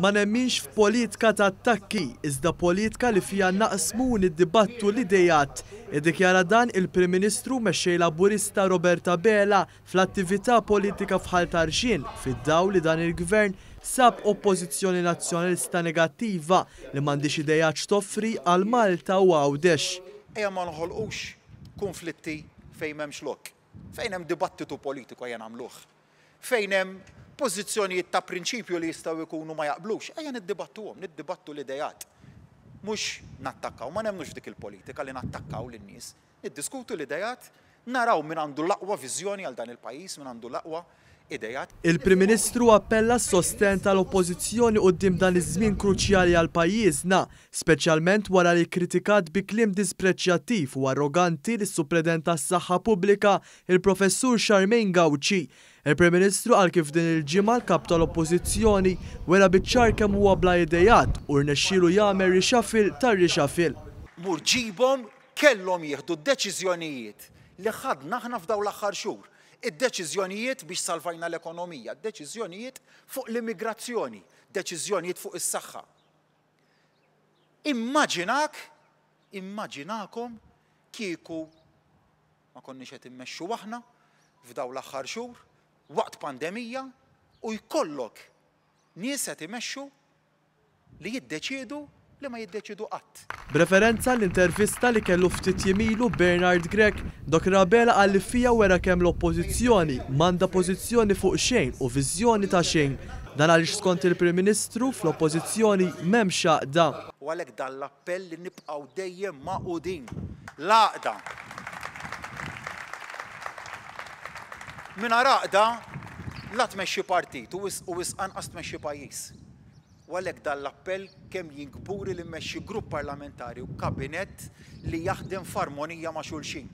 Ma nemminx f'politika ta' attakki, iżda politika li fiha naqsmu u niddibattu l-ideat. Iddikjara dan il-Prim Ministru u Mexxej Laburista Robert Abela fl-attività politika f'Ħal Tarxien fid-dawl li dan il-Gvern sab Oppożizzjoni Nazzjonalista negattiva li m'għandhiex ideat x'toffri għal Malta u Għawdex. Ejja ma noħolqux kunflitti fejn m'hemmx lok. Fejn hemm dibattitu politiku ejja nagħmluh. Fejn hemm pożizzjonijiet ta' prinċipju li jistgħu jkunu ma jaqblux, ejja niddibattuhom, niddibattu l-ideat. Mhux nattakkaw, ma nemmnux f'dik il-politika li nattakkaw lin-nies. Niddiskutu l-ideat, naraw min għandu l-aqwa viżjoni għal dan il-pajjiż, min għandu l-aqwa ideat. Il-Prim Ministru appella għas-sostenn tal-Oppożizzjoni quddiem dan iż-żmien kruċjali għal pajjiżna, speċjalment wara li kkritikat bi kliem dispreċjattiv u arroganti lis-Supredent tas-Saħħa Pubblika, il-Professur Charmaine Gauci. Il-Prim Ministru qal kif din il-ġimgħa l-Kap tal-Oppożizzjoni wera biċ-ċar kemm huwa bla ideat u rnexxielu jagħmel reshuffle tar-reshuffle. Mur ġibhom kellhom jieħdu d-deċiżjonijiet li ħadna aħna f'dawn l-aħħar xhur. Id-deċiżjonijiet biex salvajna l-ekonomija, deċiżjonijiet fuq l-immigrazzjoni, deċiżjonijiet fuq is-saħħa. Immaġinak, immaġinakom kieku ma konniex qed immexxu aħna f'dawn l-aħħar xhur waqt pandemija u jkollok nies qed imexxu li jiddeċiedu li ma jiddeċiedu qatt. B'referenza għall-intervista li kellu ftit jiem ilu Bernard Grech, Dottor Abela qal li fiha wera kemm l-Oppożizzjoni m'għandha pożizzjoni fuq xejn u viżjoni ta' xejn. Dan għaliex skont il-Prim Ministru, fl-Oppożizzjoni m'hemmx għaqda. U għalhekk dan l-appell li nibqgħu dejjem magħqudin. L-għaqda. Mingħajr għaqda la tmexxi partit u wisq anqas tmexxi pajjiż. U għalhekk dan l-appell kemm jien kburi li mmexxi grupp parlamentari u kabinett li jaħdem f'armonija ma' xulxin.